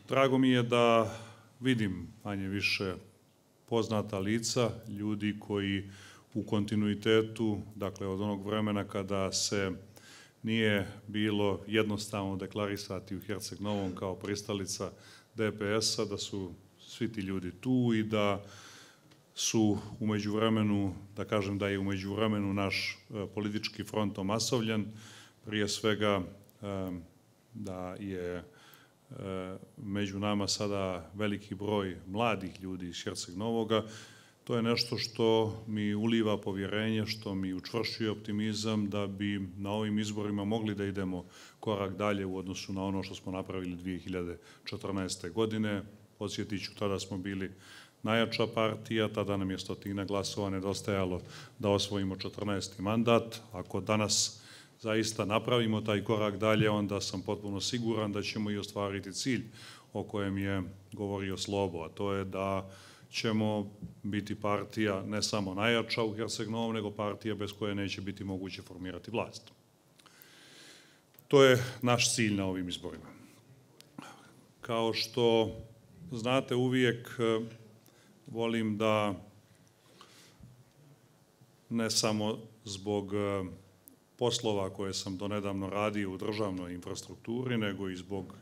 Drago mi je da vidim manje više poznata lica, ljudi koji u kontinuitetu, dakle od onog vremena kada se nije bilo jednostavno deklarisati u Herceg Novom kao pristalica DPS-a, da su svi ti ljudi tu i da su u međuvremenu, da kažem da je u međuvremenu naš politički front omasovljen, prije svega da je među nama sada veliki broj mladih ljudi iz Herceg Novoga. To je nešto što mi uliva povjerenje, što mi učvršćuje optimizam da bi na ovim izborima mogli da idemo korak dalje u odnosu na ono što smo napravili 2014. godine. Podsjetit ću, tada smo bili najjača partija, tada nam je 100 glasova nedostajalo da osvojimo 14. mandat. Ako danas zaista napravimo taj korak dalje, onda sam potpuno siguran da ćemo i ostvariti cilj o kojem je govorio Slobo, a to je da ćemo biti partija ne samo najjača u Herceg Novom, nego partija bez koje neće biti moguće formirati vlast. To je naš cilj na ovim izborima. Kao što znate, uvijek volim da ne samo zbog poslova koje sam donedavno radio u državnoj infrastrukturi, nego i zbog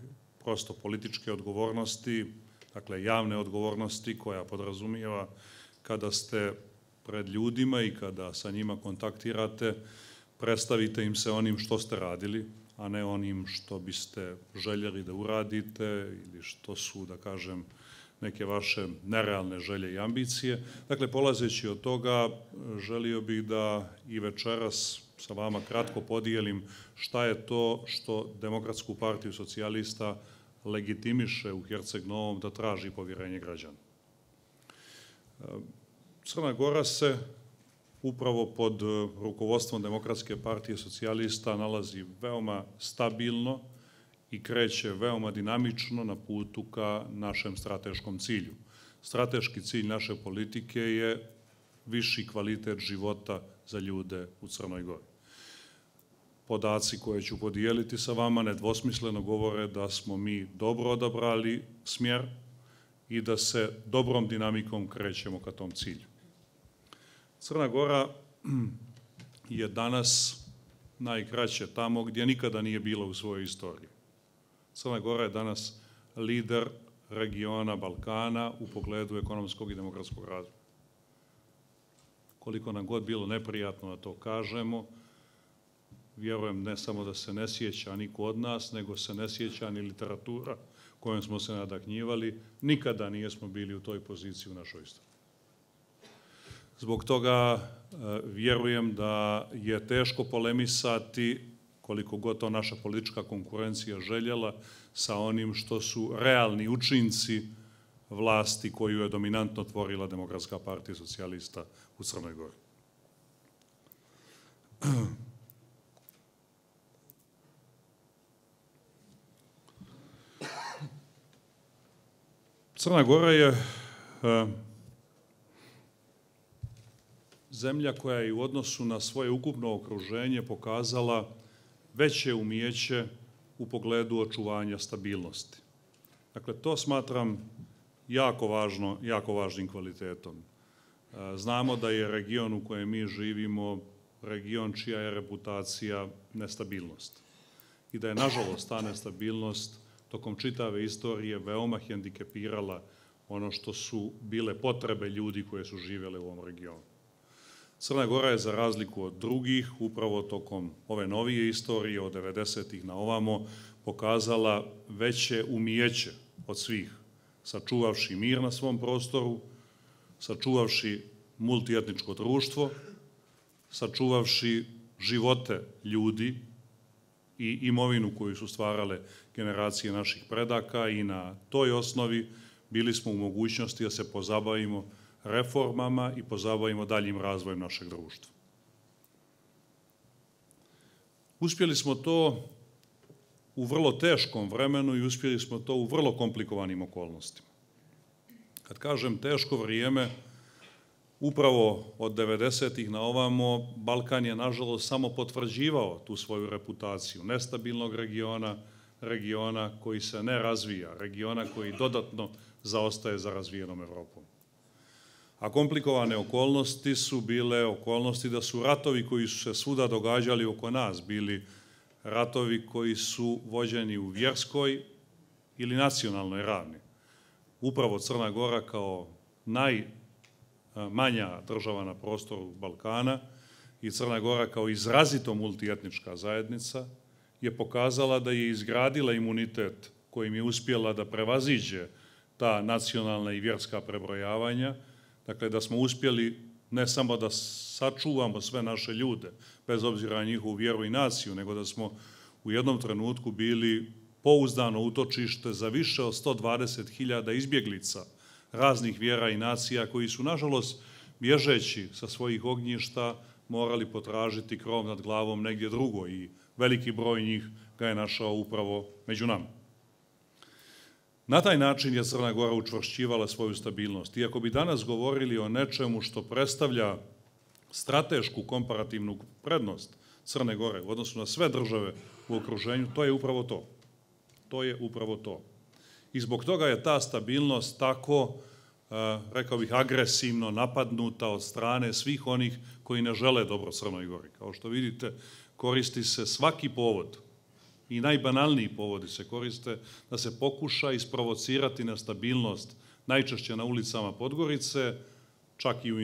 prosto političke odgovornosti, dakle javne odgovornosti koja podrazumijeva kada ste pred ljudima i kada sa njima kontaktirate, predstavite im se onim što ste radili, a ne onim što biste željeli da uradite ili što su, da kažem, neke vaše nerealne želje i ambicije. Dakle, polazeći od toga, želio bih da i večeras sa vama kratko podijelim šta je to što Demokratsku partiju socijalista legitimiše u Herceg Novom da traži povjerenje građana. Crna Gora se upravo pod rukovodstvom Demokratske partije socijalista nalazi veoma stabilno i kreće veoma dinamično na putu ka našem strateškom cilju. Strateški cilj naše politike je viši kvalitet života za ljude u Crnoj Gori. Podaci koje ću podijeliti sa vama nedvosmisleno govore da smo mi dobro odabrali smjer i da se dobrom dinamikom krećemo ka tom cilju. Crna Gora je danas najkraće tamo gdje nikada nije bila u svojoj istoriji. Crna Gora je danas lider regiona Balkana u pogledu ekonomskog i demokratskog razvoja. Koliko nam god bilo neprijatno da to kažemo, vjerujem ne samo da se ne sjeća niko od nas, nego se ne sjeća ni literatura kojom smo se nadahnjivali. Nikada nismo bili u toj poziciji u našoj istoriji. Zbog toga vjerujem da je teško polemisati, koliko god to naša politička konkurencija željela, sa onim što su realni učinci vlasti koju je dominantno tvorila Demokratska partija socijalista u Crnoj Gori. Crna Gora je zemlja koja je u odnosu na svoje ukupno okruženje pokazala veće umijeće u pogledu očuvanja stabilnosti. Dakle, to smatram jako važnim kvalitetom. Znamo da je region u kojem mi živimo region čija je reputacija nestabilnost i da je, nažalost, ta nestabilnost tokom čitave istorije veoma hendikepirala ono što su bile potrebe ljudi koje su živjele u ovom regionu. Crna Gora je, za razliku od drugih, upravo tokom ove novije istorije, od 90-ih na ovamo, pokazala veće umijeće od svih, sačuvavši mir na svom prostoru, sačuvavši multietničko društvo, sačuvavši živote ljudi i imovinu koju su stvarale generacije naših predaka, i na toj osnovi bili smo u mogućnosti da se pozabavimo reformama i pozabavimo daljim razvojem našeg društva. Uspjeli smo to u vrlo teškom vremenu i uspjeli smo to u vrlo komplikovanim okolnostima. Kad kažem teško vrijeme, upravo od 90-ih na ovamo, Balkan je, nažalost, samo potvrđivao tu svoju reputaciju nestabilnog regiona, regiona koji se ne razvija, regiona koji dodatno zaostaje za razvijenom Evropom. A komplikovane okolnosti su bile okolnosti da su ratovi koji su se svuda događali oko nas bili ratovi koji su vođeni u vjerskoj ili nacionalnoj ravni. Upravo Crna Gora kao najmanja država na prostoru Balkana i Crna Gora kao izrazito multietnička zajednica je pokazala da je izgradila imunitet kojim je uspjela da prevaziđe ta nacionalna i vjerska prebrojavanja, dakle da smo uspjeli ne samo da sačuvamo sve naše ljude, bez obzira na njihovu vjeru i naciju, nego da smo u jednom trenutku bili pouzdano utočište za više od 120.000 izbjeglica raznih vjera i nacija koji su, nažalost, bježeći sa svojih ognjišta, morali potražiti krov nad glavom negdje drugo i veliki broj njih ga je našao upravo među nama. Na taj način je Crna Gora učvršćivala svoju stabilnost. Iako bi danas govorili o nečemu što predstavlja stratešku komparativnu prednost Crne Gore u odnosu na sve države u okruženju, to je upravo to. To je upravo to. I zbog toga je ta stabilnost tako, rekao bih, agresivno napadnuta od strane svih onih koji ne žele dobro Crnoj Gori. Kao što vidite, koristi se svaki povod i najbanalniji povodi se koriste da se pokuša isprovocirati nestabilnost, najčešće na ulicama Podgorice, čak i u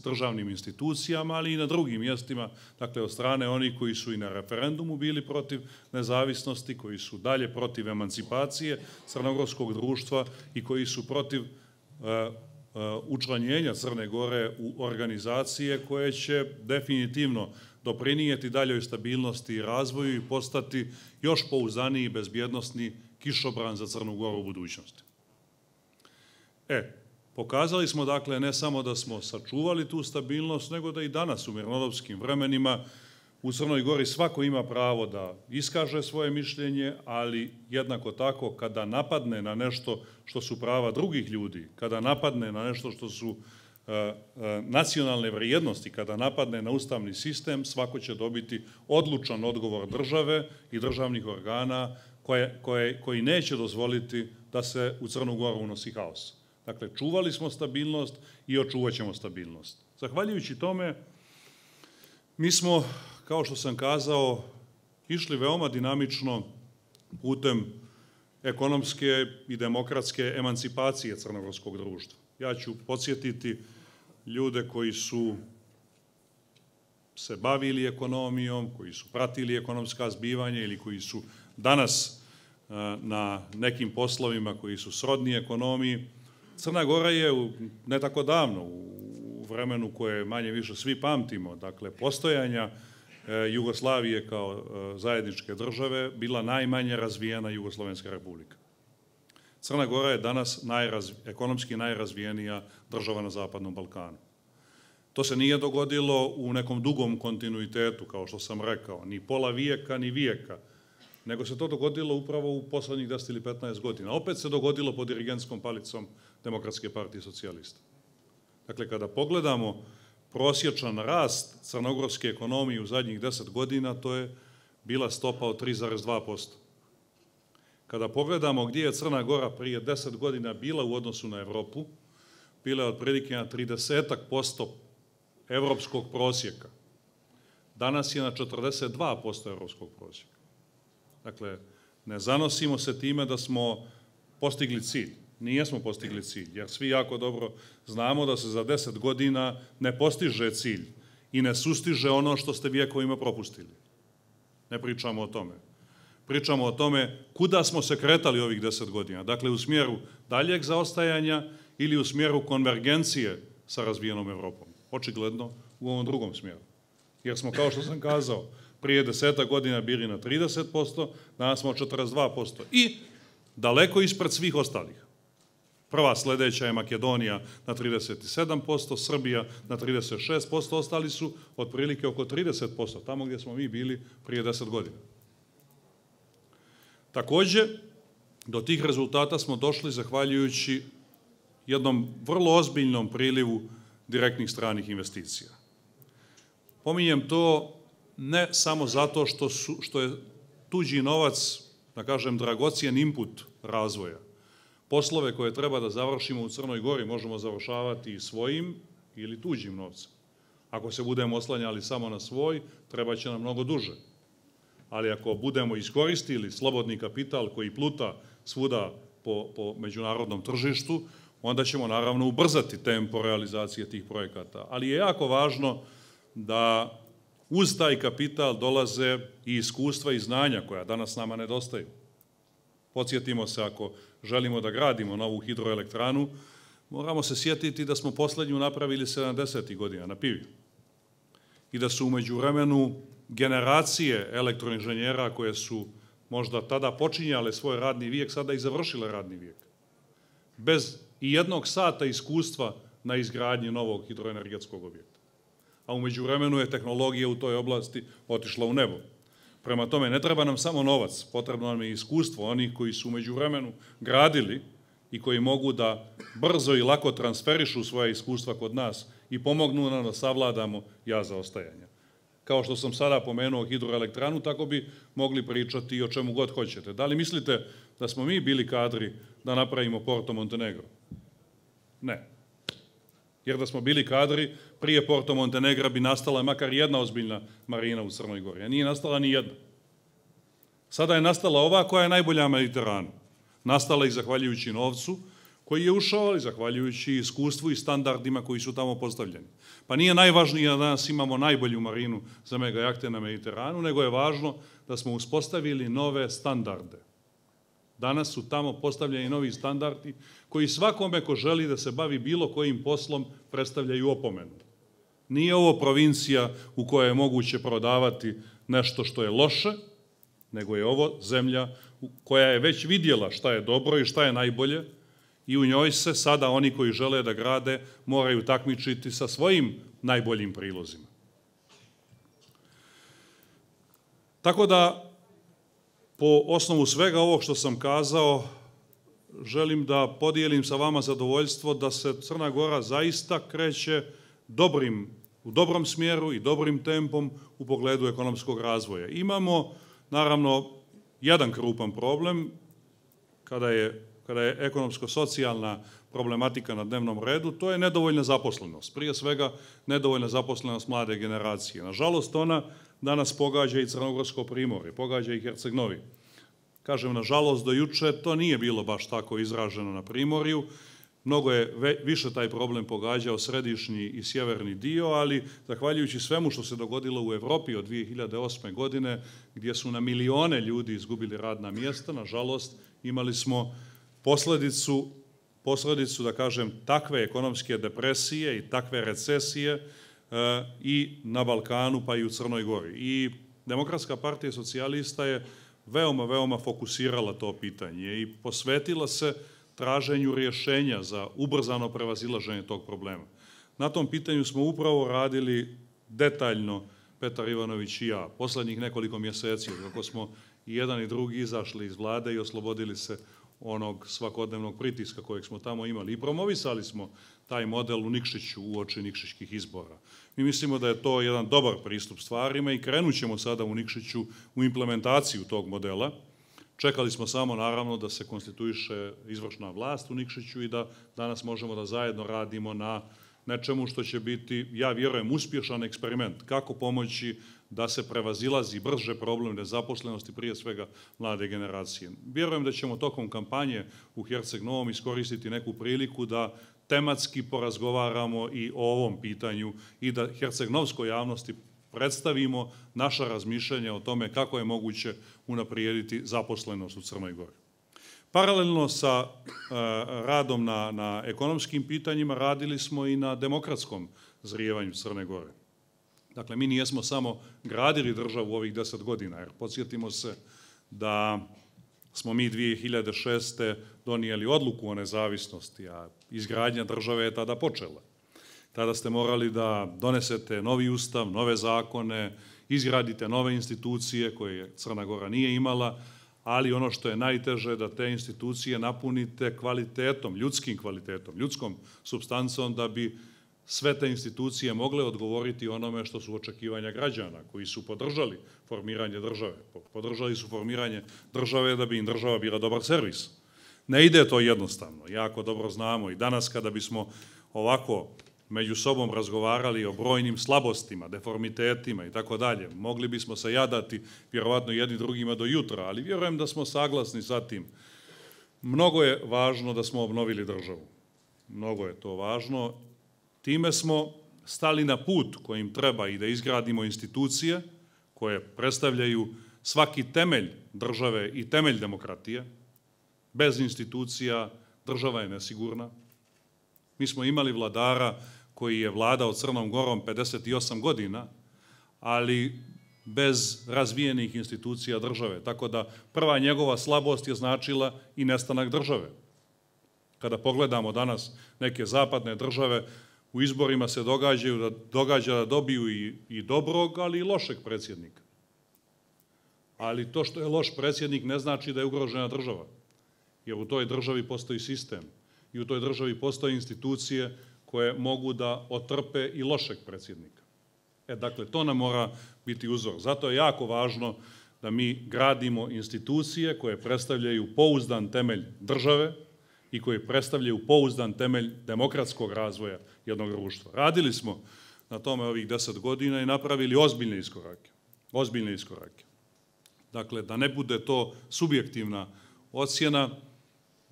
državnim institucijama, ali i na drugim mjestima, dakle od strane onih koji su i na referendumu bili protiv nezavisnosti, koji su dalje protiv emancipacije crnogorskog društva i koji su protiv učlanjenja Crne Gore u organizacije koje će definitivno doprinijeti daljoj stabilnosti i razvoju i postati još pouzdaniji i bezbjednosni kišobran za Crnu Goru u budućnosti. Pokazali smo, dakle, ne samo da smo sačuvali tu stabilnost, nego da i danas u mirnodopskim vremenima u Crnoj Gori svako ima pravo da iskaže svoje mišljenje, ali jednako tako kada napadne na nešto što su prava drugih ljudi, kada napadne na nešto što su nacionalne vrijednosti, kada napadne na ustavni sistem, svako će dobiti odlučan odgovor države i državnih organa koji neće dozvoliti da se u Crnu Goru unosi haos. Dakle, čuvali smo stabilnost i očuvat ćemo stabilnost. Zahvaljujući tome, mi smo, kao što sam kazao, išli veoma dinamično putem ekonomske i demokratske emancipacije crnogorskog društva. Ja ću podsjetiti ljude koji su se bavili ekonomijom, koji su pratili ekonomska zbivanja ili koji su danas na nekim poslovima koji su srodni ekonomiji. Crna Gora je ne tako davno, u vremenu koje manje više svi pamtimo, dakle postojanja Jugoslavije kao zajedničke države, bila najmanje razvijena Jugoslovenska republika. Crna Gora je danas ekonomski najrazvijenija država na Zapadnom Balkanu. To se nije dogodilo u nekom dugom kontinuitetu, kao što sam rekao, ni pola vijeka, ni vijeka, nego se to dogodilo upravo u poslednjih 10 ili 15 godina. Opet se dogodilo pod dirigentskom palicom Demokratske partije socijalista. Dakle, kada pogledamo prosječan rast crnogorske ekonomije u zadnjih 10 godina, to je bila stopa od 3,2%. Kada pogledamo gdje je Crna Gora prije 10 godina bila u odnosu na Evropu, bila je otprilike na 30% evropskog prosjeka. Danas je na 42% evropskog prosjeka. Dakle, ne zanosimo se time da smo postigli cilj. Nijesmo postigli cilj, jer svi jako dobro znamo da se za 10 godina ne postiže cilj i ne sustiže ono što ste vjekovima propustili. Ne pričamo o tome. Pričamo o tome kuda smo se kretali ovih 10 godina. Dakle, u smjeru daljeg zaostajanja ili u smjeru konvergencije sa razvijenom Evropom. Očigledno u ovom drugom smjeru. Jer smo, kao što sam kazao, prije 10 godina bili na 30%, danas smo 42% i daleko ispred svih ostalih. Prva sljedeća je Makedonija na 37%, Srbija na 36%, ostali su otprilike oko 30%, tamo gdje smo mi bili prije 10 godina. Također, do tih rezultata smo došli zahvaljujući jednom vrlo ozbiljnom prilivu direktnih stranih investicija. Pominjem to ne samo zato što je tuđi novac da kažem, dragocijen input razvoja. Poslove koje treba da završimo u Crnoj Gori možemo završavati svojim ili tuđim novcem. Ako se budemo oslanjali samo na svoj, treba će nam mnogo duže. Ali ako budemo iskoristili slobodni kapital koji pluta svuda po međunarodnom tržištu, onda ćemo naravno ubrzati tempo realizacije tih projekata. Ali je jako važno da uz taj kapital dolaze i iskustva i znanja koja danas nama nedostaju. Podsjetimo se, ako želimo da gradimo novu hidroelektranu, moramo se sjetiti da smo poslednju napravili 70. godina na Pivi i da su u međuvremenu generacije elektroinženjera koje su možda tada počinjale svoj radni vijek, sada i završile radni vijek. Bez i jednog sata iskustva na izgradnji novog hidroenergetskog objekta. A u međuvremenu je tehnologija u toj oblasti otišla u nebo. Prema tome, ne treba nam samo novac, potrebno nam je iskustvo onih koji su u međuvremenu gradili i koji mogu da brzo i lako transferišu svoje iskustva kod nas i pomognu nam da savladamo jaz zaostajanja. Kao što sam sada pomenuo hidroelektranu, tako bi mogli pričati i o čemu god hoćete. Da li mislite da smo mi bili kadri da napravimo Porto Montenegro? Ne. Jer da smo bili kadri, prije Porto Montenegra bi nastala makar jedna ozbiljna marina u Crnoj Gori, a nije nastala ni jedna. Sada je nastala ova koja je najbolja na Mediteranu. Nastala i zahvaljujući novcu koji je ušao, ali zahvaljujući iskustvu i standardima koji su tamo postavljeni. Pa nije najvažnije da danas imamo najbolju marinu za megajahte na Mediteranu, nego je važno da smo uspostavili nove standarde. Danas su tamo postavljeni novi standardi koji svakome ko želi da se bavi bilo kojim poslom predstavljaju opomenu. Nije ovo provincija u kojoj je moguće prodavati nešto što je loše, nego je ovo zemlja koja je već vidjela šta je dobro i šta je najbolje i u njoj se sada oni koji žele da grade moraju takmičiti sa svojim najboljim prilozima. Tako da, po osnovu svega ovog što sam kazao, želim da podijelim sa vama zadovoljstvo da se Crna Gora zaista kreće u dobrom smjeru i dobrim tempom u pogledu ekonomskog razvoja. Imamo, naravno, jedan krupan problem kada je ekonomsko-socijalna problematika na dnevnom redu, to je nedovoljna zaposlenost. Prije svega, nedovoljna zaposlenost mlade generacije. Nažalost, ona danas pogađa i Crnogorsko primorje, pogađa i Herceg-Novi. Kažem, nažalost, do juče to nije bilo baš tako izraženo na primorju. Mnogo je više taj problem pogađao središnji i sjeverni dio, ali zahvaljujući svemu što se dogodilo u Evropi od 2008. godine, gdje su na milione ljudi izgubili radna mjesta, nažalost, imali smo posledicu, da kažem, takve ekonomske depresije i takve recesije i na Balkanu, pa i u Crnoj Gori. I Demokratska partija socijalista je veoma fokusirala to pitanje i posvetila se traženju rješenja za ubrzano prevazilaženje tog problema. Na tom pitanju smo upravo radili detaljno, Petar Ivanović i ja, poslednjih nekoliko mjeseci, kako smo i jedan i drugi izašli iz vlade i oslobodili se onog svakodnevnog pritiska kojeg smo tamo imali. I promovisali smo taj model u Nikšiću uoči nikšićkih izbora. Mi mislimo da je to jedan dobar pristup stvarima i krenut ćemo sada u Nikšiću u implementaciju tog modela. Čekali smo samo, naravno, da se konstituiše izvršna vlast u Nikšiću i da danas možemo da zajedno radimo na nečemu što će biti, ja vjerujem, uspješan eksperiment. Kako pomoći da se prevazilazi brže problem nezaposlenosti, prije svega mlade generacije. Vjerujem da ćemo tokom kampanje u Herceg-Novom iskoristiti neku priliku da tematski porazgovaramo i o ovom pitanju i da herceg-novskoj javnosti predstavimo naša razmišljanja o tome kako je moguće unaprijediti zaposlenost u Crnoj Gori. Paralelno sa radom na ekonomskim pitanjima radili smo i na demokratskom zrijevanju Crne Gore. Dakle, mi nijesmo samo gradili državu ovih 10 godina, jer podsjetimo se da smo mi 2006. donijeli odluku o nezavisnosti, a izgradnja države je tada počela. Tada ste morali da donesete novi ustav, nove zakone, izgradite nove institucije koje Crna Gora nije imala, ali ono što je najteže da te institucije napunite kvalitetom, ljudskim kvalitetom, ljudskom supstancom da bi sve te institucije mogle odgovoriti onome što su očekivanja građana koji su podržali formiranje države. Podržali su formiranje države da bi im država bila dobar servis. Ne ide to jednostavno, jako dobro znamo i danas kada bismo ovako među sobom razgovarali o brojnim slabostima, deformitetima i tako dalje, mogli bismo se jadati vjerovatno jedni drugima do jutra, ali vjerujem da smo saglasni sa tim. Mnogo je važno da smo obnovili državu. Mnogo je to važno. Time smo stali na put kojim treba i da izgradimo institucije koje predstavljaju svaki temelj države i temelj demokratije. Bez institucija država je nesigurna. Mi smo imali vladara koji je vladao Crnom Gorom 58 godina, ali bez razvijenih institucija države. Tako da prva njegova slabost je značila i nestanak države. Kada pogledamo danas neke zapadne države, u izborima se događa da dobiju i dobrog, ali i lošeg predsjednika. Ali to što je loš predsjednik ne znači da je ugrožena država, jer u toj državi postoji sistem i u toj državi postoje institucije koje mogu da otrpe i lošeg predsjednika. Dakle, to nam mora biti uzor. Zato je jako važno da mi gradimo institucije koje predstavljaju pouzdan temelj države i koje predstavljaju pouzdan temelj demokratskog razvoja jednog društva. Radili smo na tome ovih 10 godina i napravili ozbiljne iskorake. Ozbiljne iskorake. Dakle, da ne bude to subjektivna ocjena,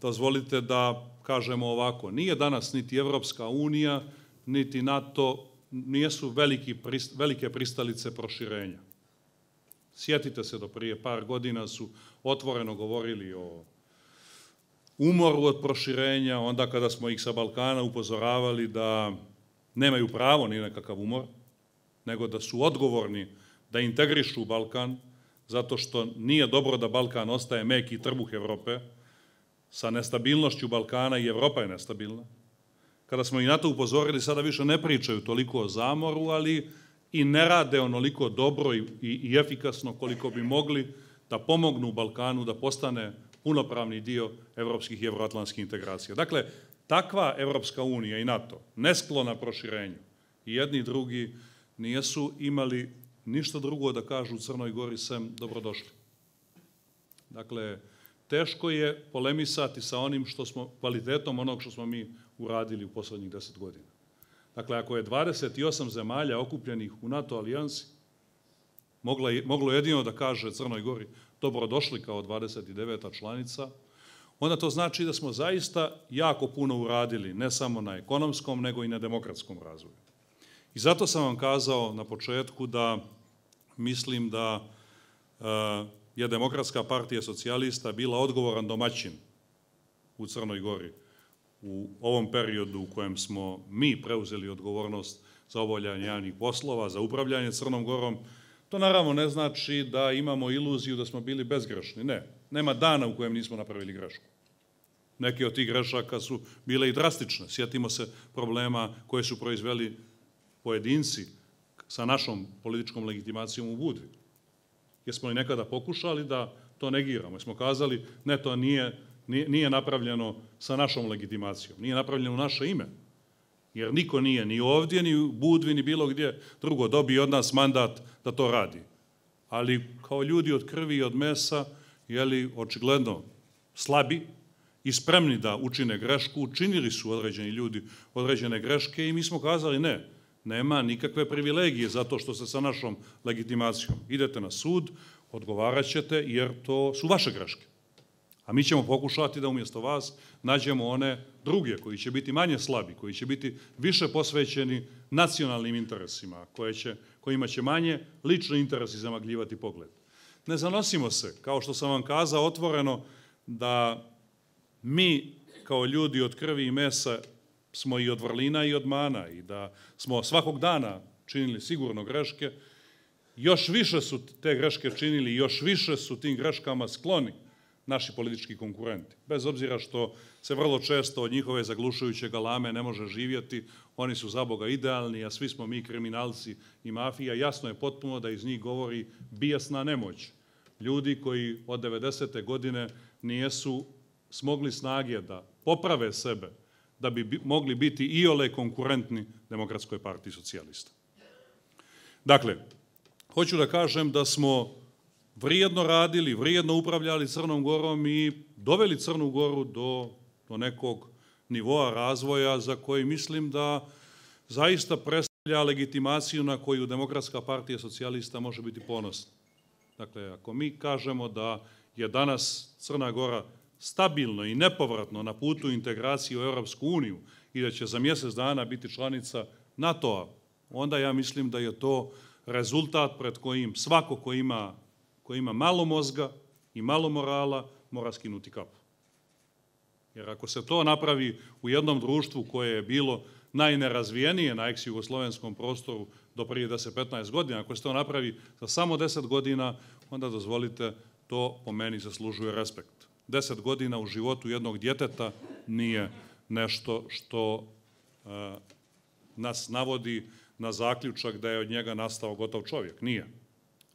dozvolite da kažemo ovako, nije danas niti Evropska unija, niti NATO, nijesu velike pristalice proširenja. Sjetite se, do prije par godina su otvoreno govorili o umoru od proširenja, onda kada smo ih sa Balkana upozoravali da nemaju pravo ni nekakav umor, nego da su odgovorni da integrišu Balkan, zato što nije dobro da Balkan ostaje meki trbuh Evrope. Sa nestabilnošću Balkana i Evropa je nestabilna. Kada smo i na to upozorili, sada više ne pričaju toliko o zamoru, ali i ne rade onoliko dobro i efikasno koliko bi mogli da pomognu Balkanu da postane punopravni dio evropskih i evroatlantskih integracija. Dakle, takva Evropska unija i NATO, nesklona proširenju, i jedni i drugi nijesu imali ništa drugo da kažu u Crnoj Gori sem dobrodošli. Dakle, teško je polemisati sa onim što smo, kvalitetom onog što smo mi uradili u poslednjih 10 godina. Dakle, ako je 28 zemalja okupljenih u NATO alijansi moglo jedino da kaže Crnoj Gori dobrodošli kao 29. članica, onda to znači da smo zaista jako puno uradili, ne samo na ekonomskom, nego i na demokratskom razvoju. I zato sam vam kazao na početku da mislim da je Demokratska partija socijalista bila odgovoran domaćin u Crnoj Gori u ovom periodu u kojem smo mi preuzeli odgovornost za obavljanje javnih poslova, za upravljanje Crnom Gorom. To naravno ne znači da imamo iluziju da smo bili bezgrešni. Ne, nema dana u kojem nismo napravili grešku. Neke od tih grešaka su bile i drastične. Sjetimo se problema koje su proizveli pojedinci sa našom političkom legitimacijom u Budvi. Jesmo li nekada pokušali da to negiramo? Jesmo kazali, ne, to nije napravljeno sa našom legitimacijom, nije napravljeno u naše ime. Jer niko nije ni ovdje, ni u Budvi, ni bilo gdje drugo dobio od nas mandat da to radi. Ali kao ljudi od krvi i od mesa, očigledno slabi i spremni da učine grešku, učinili su određeni ljudi određene greške i mi smo kazali ne, nema nikakve privilegije zato što ste sa našom legitimacijom. Idete na sud, odgovarat ćete jer to su vaše greške. A mi ćemo pokušati da umjesto vas nađemo one druge koji će biti manje slabi, koji će biti više posvećeni nacionalnim interesima, kojima će manje lični interesi zamagljivati pogled. Ne zanosimo se, kao što sam vam kazao otvoreno, da mi kao ljudi od krvi i mesa smo i od vrlina i od mana i da smo svakog dana činili sigurno greške. Još više su te greške činili i još više su tim greškama skloni naši politički konkurenti. Bez obzira što se vrlo često od njihove zaglušujuće galame ne može živjeti, oni su za Boga idealni, a svi smo mi kriminalci i mafija. Jasno je potpuno da iz njih govori bijesna nemoć. Ljudi koji od 90. godine nijesu smogli snage da poprave sebe, da bi mogli biti iole konkurentni Demokratskoj partiji socijalista. Dakle, hoću da kažem da smo vrijedno radili, vrijedno upravljali Crnom Gorom i doveli Crnu Goru do nekog nivoa razvoja za koji mislim da zaista predstavlja legitimaciju na koju Demokratska partija socijalista može biti ponosna. Dakle, ako mi kažemo da je danas Crna Gora stabilno i nepovratno na putu integracije u Europsku uniju i da će za mjesec dana biti članica NATO-a, onda ja mislim da je to rezultat pred kojim svako ko ima malo mozga i malo morala mora skinuti kapu. Jer ako se to napravi u jednom društvu koje je bilo najnerazvijenije na ex-jugoslovenskom prostoru do prije 10-15 godina, ako se to napravi za samo 10 godina, onda dozvolite, to po meni zaslužuje respekt. 10 godina u životu jednog djeteta nije nešto što nas navodi na zaključak da je od njega nastao gotov čovjek. Nije.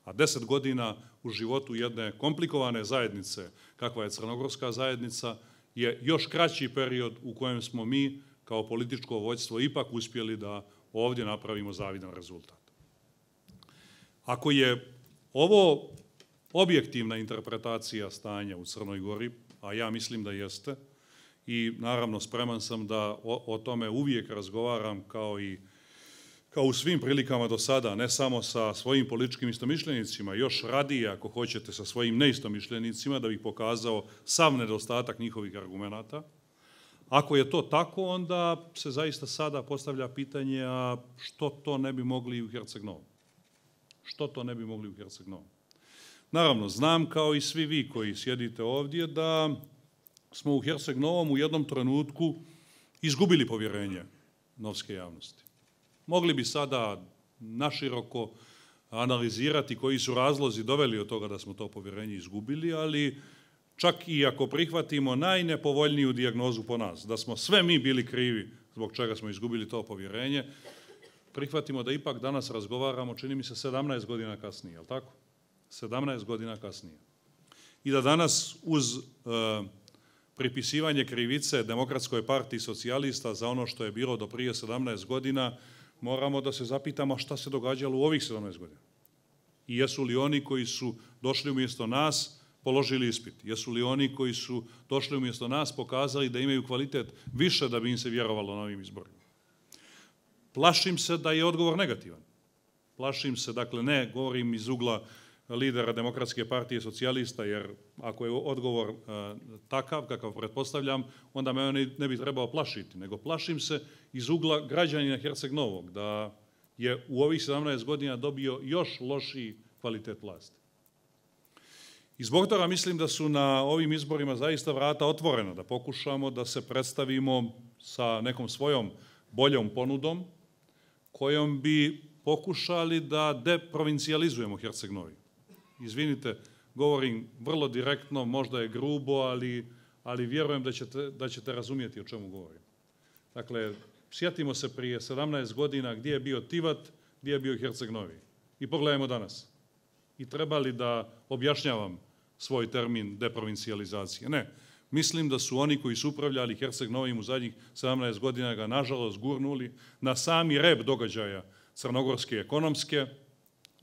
A 10 godina u životu jedne komplikovane zajednice, kakva je crnogorska zajednica, je još kraći period u kojem smo mi kao političko vođstvo ipak uspjeli da ovdje napravimo zavidan rezultat. Ako je ovo objektivna interpretacija stanja u Crnoj Gori, a ja mislim da jeste, i naravno spreman sam da o tome uvijek razgovaram kao u svim prilikama do sada, ne samo sa svojim političkim istomišljenicima, još radije ako hoćete sa svojim neistomišljenicima, da bih pokazao sav nedostatak njihovih argumenata. Ako je to tako, onda se zaista sada postavlja pitanje, a što to ne bi mogli u Herceg-Novom? Što to ne bi mogli u Herceg-Novom? Naravno, znam kao i svi vi koji sjedite ovdje da smo u Herceg-Novom u jednom trenutku izgubili povjerenje novske javnosti. Mogli bi sada naširoko analizirati koji su razlozi doveli od toga da smo to povjerenje izgubili, ali čak i ako prihvatimo najnepovoljniju dijagnozu po nas, da smo sve mi bili krivi zbog čega smo izgubili to povjerenje, prihvatimo da ipak danas razgovaramo, čini mi se, 17 godina kasnije, je li tako? 17 godina kasnije. I da danas uz pripisivanje krivice Demokratskoj partiji socijalista za ono što je bilo do prije 17 godina, moramo da se zapitamo šta se događalo u ovih 17 godina. I jesu li oni koji su došli umjesto nas položili ispit? Jesu li oni koji su došli umjesto nas pokazali da imaju kvalitet više da bi im se vjerovalo na ovim izborima? Plašim se da je odgovor negativan. Plašim se, dakle, ne govorim iz ugla lidera Demokratske partije socijalista, jer ako je odgovor takav, kakav pretpostavljam, onda me on ne bi trebao plašiti, nego plašim se iz ugla građanina Herceg-Novog, da je u ovih 17 godina dobio još lošiji kvalitet vlasti. I zbog toga mislim da su na ovim izborima zaista vrata otvorena, da pokušamo da se predstavimo sa nekom svojom boljom ponudom, kojom bi pokušali da deprovincijalizujemo Herceg-Novi. Izvinite, govorim vrlo direktno, možda je grubo, ali vjerujem da ćete razumjeti o čemu govorim. Dakle, sjetimo se prije 17 godina gdje je bio Tivat, gdje je bio Herceg-Novi. I pogledajmo danas. I treba li da objašnjavam svoj termin deprovincijalizacije? Ne. Mislim da su oni koji su upravljali Herceg-Novim u zadnjih 17 godina ga nažalost gurnuli na sami rep događaja crnogorske ekonomske,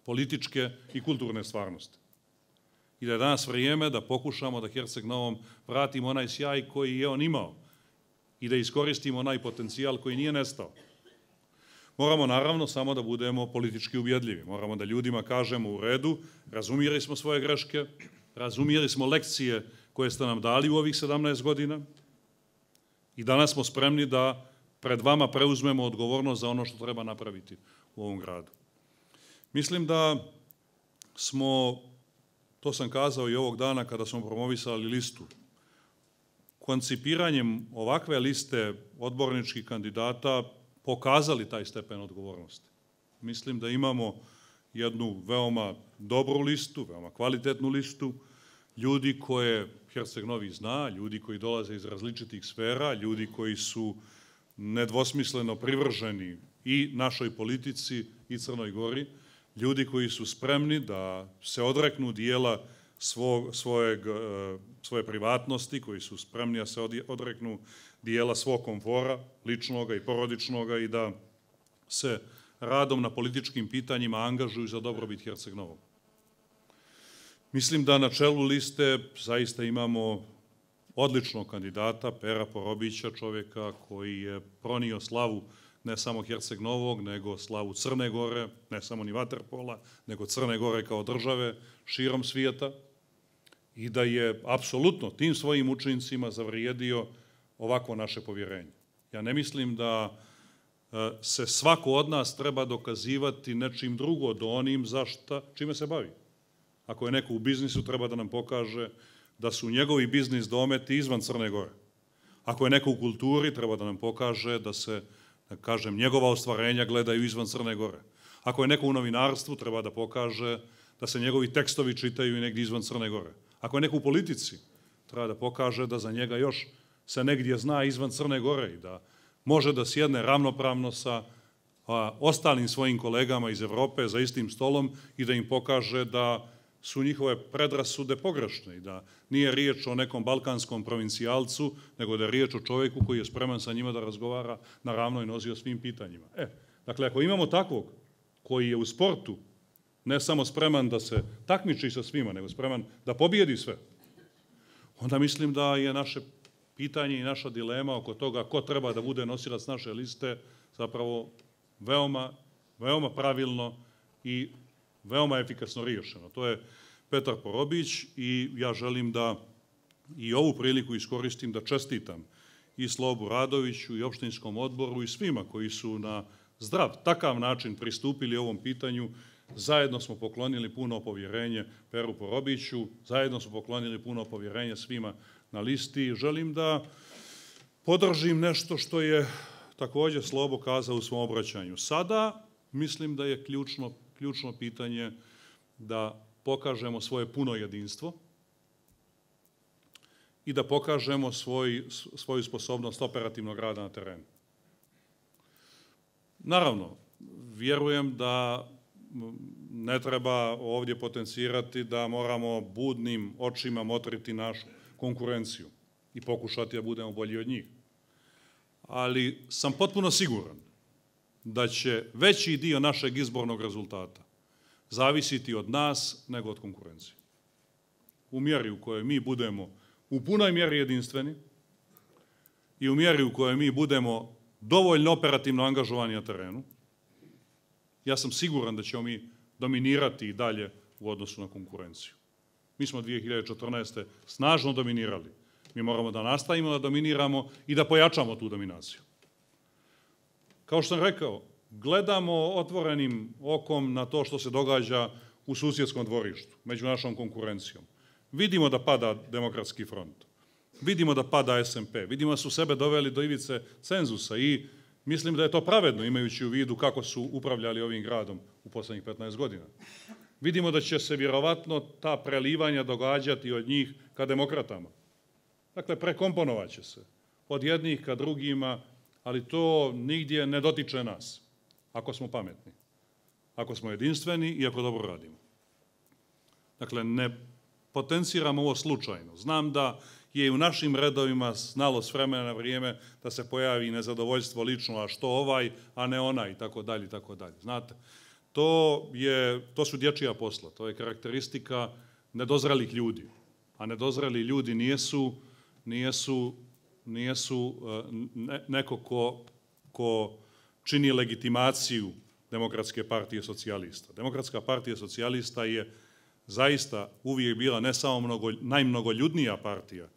političke i kulturne stvarnosti. I da je danas vrijeme da pokušamo da Herceg-Novom vratimo onaj sjaj koji je on imao i da iskoristimo onaj potencijal koji nije nestao. Moramo naravno samo da budemo politički ubjedljivi. Moramo da ljudima kažemo u redu, razumjeli smo svoje greške, razumjeli smo lekcije koje ste nam dali u ovih 17 godina i danas smo spremni da pred vama preuzmemo odgovornost za ono što treba napraviti u ovom gradu. Mislim da smo, to sam kazao i ovog dana kada smo promovisali listu, koncipiranjem ovakve liste odborničkih kandidata pokazali taj stepen odgovornosti. Mislim da imamo jednu veoma dobru listu, veoma kvalitetnu listu, ljudi koje Herceg-Novi zna, ljudi koji dolaze iz različitih sfera, ljudi koji su nedvosmisleno privrženi i našoj politici i Crnoj Gori, ljudi koji su spremni da se odreknu dijela svoje privatnosti, koji su spremni da se odreknu dijela svog komfora, ličnoga i porodičnoga, i da se radom na političkim pitanjima angažuju za dobrobit Herceg Novog. Mislim da na čelu liste zaista imamo odličnog kandidata, Pera Porobića, čovjeka koji je pronio slavu ne samo Herceg Novog, nego slavu Crne Gore, ne samo ni vaterpola, nego Crne Gore kao države širom svijeta, i da je apsolutno tim svojim učincima zavrijedio ovako naše povjerenje. Ja ne mislim da se svako od nas treba dokazivati nečim drugo do onim čime se bavi. Ako je neko u biznisu, treba da nam pokaže da su njegovi biznis dometi izvan Crne Gore. Ako je neko u kulturi, treba da nam pokaže da se, da kažem, njegova ostvarenja gledaju izvan Crne Gore. Ako je neko u novinarstvu, treba da pokaže da se njegovi tekstovi čitaju i negdje izvan Crne Gore. Ako je neko u politici, treba da pokaže da za njega još se negdje zna izvan Crne Gore i da može da sjedne ravnopravno sa ostalim svojim kolegama iz Evrope za istim stolom i da im pokaže da su njihove predrasude pogrešne i da nije riječ o nekom balkanskom provincijalcu, nego da je riječ o čovjeku koji je spreman sa njima da razgovara na ravnoj nozi o svim pitanjima. Dakle, ako imamo takvog koji je u sportu ne samo spreman da se takmiči sa svima, nego spreman da pobijedi sve, onda mislim da je naše pitanje i naša dilema oko toga ko treba da bude nosilac naše liste zapravo veoma pravilno i veoma efikasno riješeno. To je Petar Porobić i ja želim da i ovu priliku iskoristim da čestitam i Slobu Radoviću i opštinskom odboru i svima koji su na zdrav, takav način pristupili ovom pitanju. Zajedno smo poklonili puno povjerenje Peru Porobiću, zajedno smo poklonili puno povjerenje svima na listi. Želim da podržim nešto što je također Slobo kazao u svom obraćanju. Sada mislim da je ključno pitanje da pokažemo svoje puno jedinstvo i da pokažemo svoju sposobnost operativnog rada na terenu. Naravno, vjerujem da ne treba ovdje potencirati da moramo budnim očima motriti našu konkurenciju i pokušati da budemo bolji od njih. Ali sam potpuno siguran da će veći dio našeg izbornog rezultata zavisiti od nas nego od konkurencije. U mjeri u kojoj mi budemo u punoj mjeri jedinstveni i u mjeri u kojoj mi budemo dovoljno operativno angažovani na terenu, ja sam siguran da ćemo mi dominirati i dalje u odnosu na konkurenciju. Mi smo 2014. snažno dominirali. Mi moramo da nastavimo da dominiramo i da pojačamo tu dominaciju. Kao što sam rekao, gledamo otvorenim okom na to što se događa u susjedskom dvorištu, među našom konkurencijom. Vidimo da pada Demokratski front, vidimo da pada SMP, vidimo da su sebe doveli do ivice cenzusa i mislim da je to pravedno imajući u vidu kako su upravljali ovim gradom u posljednjih 15 godina. Vidimo da će se vjerovatno ta prelivanja događati od njih ka demokratama. Dakle, prekomponovat će se od jednih ka drugima, ali to nigdje ne dotiče nas, ako smo pametni, ako smo jedinstveni i ako dobro radimo. Dakle, ne potenciramo ovo slučajno. Znam da je u našim redovima znalo s vremena na vrijeme da se pojavi nezadovoljstvo lično, a što ovaj, a ne onaj, i tako dalje, i tako dalje. Znate, to su dječja posla, to je karakteristika nedozrelih ljudi, a nedozreli ljudi nijesu neko ko čini legitimaciju Demokratske partije socijalista. Demokratska partija socijalista je zaista uvijek bila ne samo najmnogoljudnija partija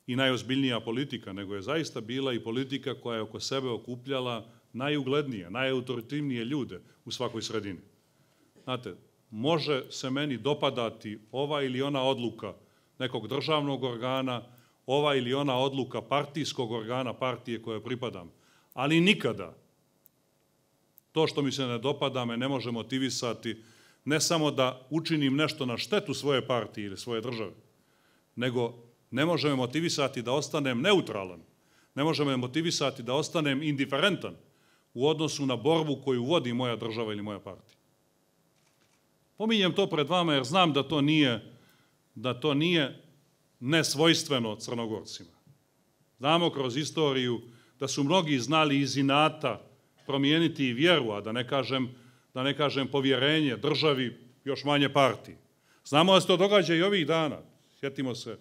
i najozbiljnija politika, nego je zaista bila i politika koja je oko sebe okupljala najuglednije, najautoritivnije ljude u svakoj sredini. Znate, može se meni dopadati ova ili ona odluka nekog državnog organa, ova ili ona odluka partijskog organa partije koje pripadam, ali nikada to što mi se ne dopada me ne može motivisati ne samo da učinim nešto na štetu svoje partije ili svoje države, nego ne može me motivisati da ostanem neutralan, ne može me motivisati da ostanem indiferentan u odnosu na borbu koju vodi moja država ili moja partija. Pominjem to pred vama jer znam da to nije nesvojstveno Crnogorcima. Znamo kroz istoriju da su mnogi znali iz inata promijeniti i vjeru, a da ne kažem povjerenje državi, još manje partiji. Znamo da se to događa i ovih dana. Sjetimo se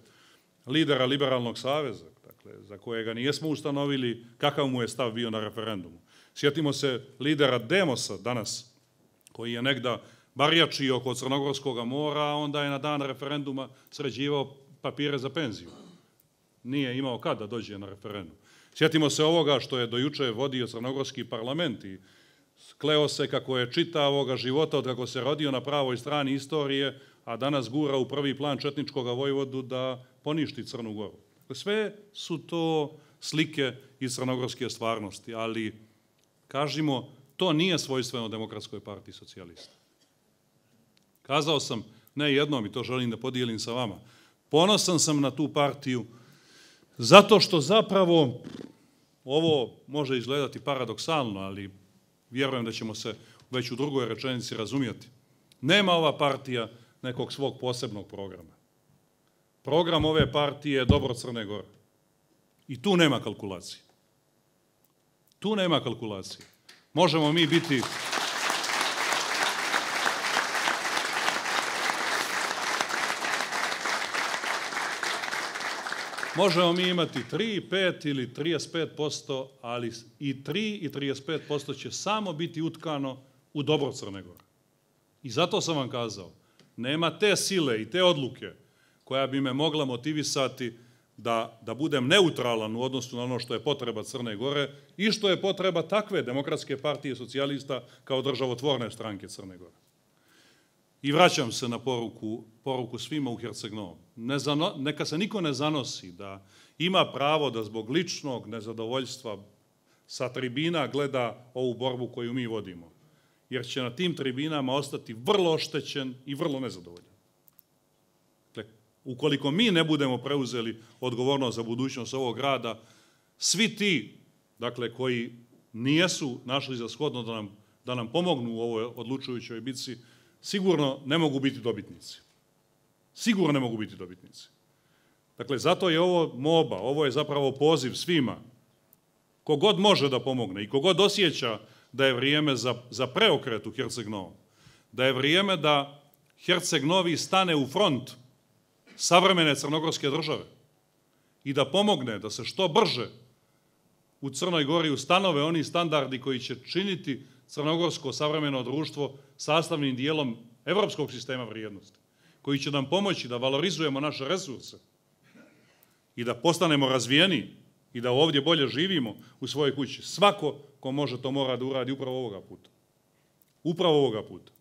lidera Liberalnog saveza, dakle, za kojega nijesmo ustanovili kakav mu je stav bio na referendumu. Sjetimo se lidera Demosa danas, koji je negda barjačio oko Crnogorskog mora, a onda je na dan referenduma sređivao papire za penziju. Nije imao kad da dođe na referendum. Sjetimo se ovoga što je dojuče vodio Crnogorski parlament i kleo se kako je čitavoga života od kako se rodio na pravoj strani istorije, a danas gura u prvi plan četničkog vojvodu da poništi Crnu Goru. Sve su to slike iz crnogorske stvarnosti, ali kažimo, to nije svojstveno Demokratskoj partiji socijalista. Kazao sam ne jednom i to želim da podijelim sa vama. Ponosan sam na tu partiju zato što zapravo ovo može izgledati paradoksalno, ali vjerujem da ćemo se već u drugoj rečenici razumjeti. Nema ova partija nekog svog posebnog programa. Program ove partije je dobro Crne Gore. I tu nema kalkulacije. Tu nema kalkulacije. Možemo mi biti... Možemo mi imati 3, 5 ili 35%, ali i 3 i 35% će samo biti utkano u dobro Crne Gore. I zato sam vam kazao, nema te sile i te odluke koja bi me mogla motivisati da budem neutralan u odnosu na ono što je potreba Crne Gore i što je potreba takve Demokratske partije socijalista kao državotvorne stranke Crne Gore. I vraćam se na poruku svima u Herceg-Novom. Neka se niko ne zanosi da ima pravo da zbog ličnog nezadovoljstva sa tribina gleda ovu borbu koju mi vodimo. Jer će na tim tribinama ostati vrlo oštećen i vrlo nezadovoljan. Dakle, ukoliko mi ne budemo preuzeli odgovornost za budućnost ovog grada, svi ti, dakle, koji nijesu našli za shodno da nam pomognu u ovoj odlučujućoj bitci, sigurno ne mogu biti dobitnici. Sigurno ne mogu biti dobitnici. Dakle, zato je ovo molba, ovo je zapravo poziv svima. Kogod može da pomogne i kogod osjeća da je vrijeme za preokret u Herceg-Novom, da je vrijeme da Herceg-Novi stane u front savremene crnogorske države i da pomogne da se što brže u Crnoj Gori ustanove oni standardi koji će činiti crnogorsko savremeno društvo sastavnim dijelom evropskog sistema vrijednosti, koji će nam pomoći da valorizujemo naše resurse i da postanemo razvijeni i da ovdje bolje živimo u svojoj kući. Svako ko može to mora da uradi upravo ovoga puta. Upravo ovoga puta.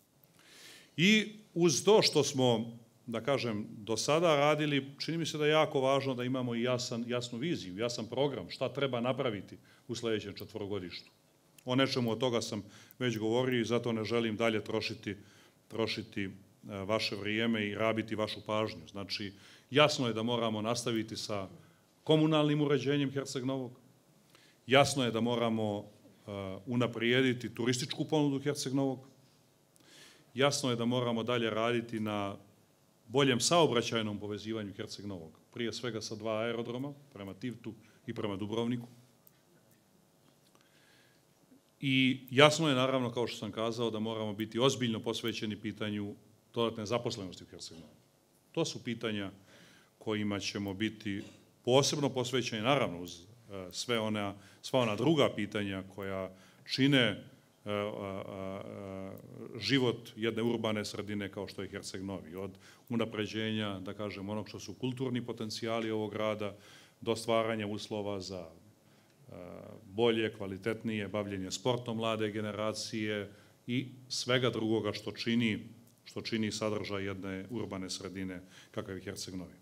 I uz to što smo, da kažem, do sada radili, čini mi se da je jako važno da imamo i jasnu viziju, jasan program, šta treba napraviti u sljedećem četvorogodištu. O nečemu od toga sam već govorio i zato ne želim dalje trošiti vaše vrijeme i rabiti vašu pažnju. Znači, jasno je da moramo nastaviti sa komunalnim uređenjem Herceg-Novog, jasno je da moramo unaprijediti turističku ponudu Herceg-Novog, jasno je da moramo dalje raditi na boljem saobraćajnom povezivanju Herceg-Novog, prije svega sa 2 aerodroma, prema Tivtu i prema Dubrovniku. I jasno je, naravno, kao što sam kazao, da moramo biti ozbiljno posvećeni pitanju dodatne zaposlenosti u Herceg-Novom. To su pitanja kojima ćemo biti posebno posvećeni, naravno, uz sva ona druga pitanja koja čine život jedne urbane sredine kao što je Herceg-Novi. Od unapređenja, da kažem, onog što su kulturni potencijali ovog grada, do stvaranja uslova za bolje, kvalitetnije bavljenje sportom mlade generacije i svega drugoga što čini sadržaj jedne urbane sredine kakav je Herceg-Novi.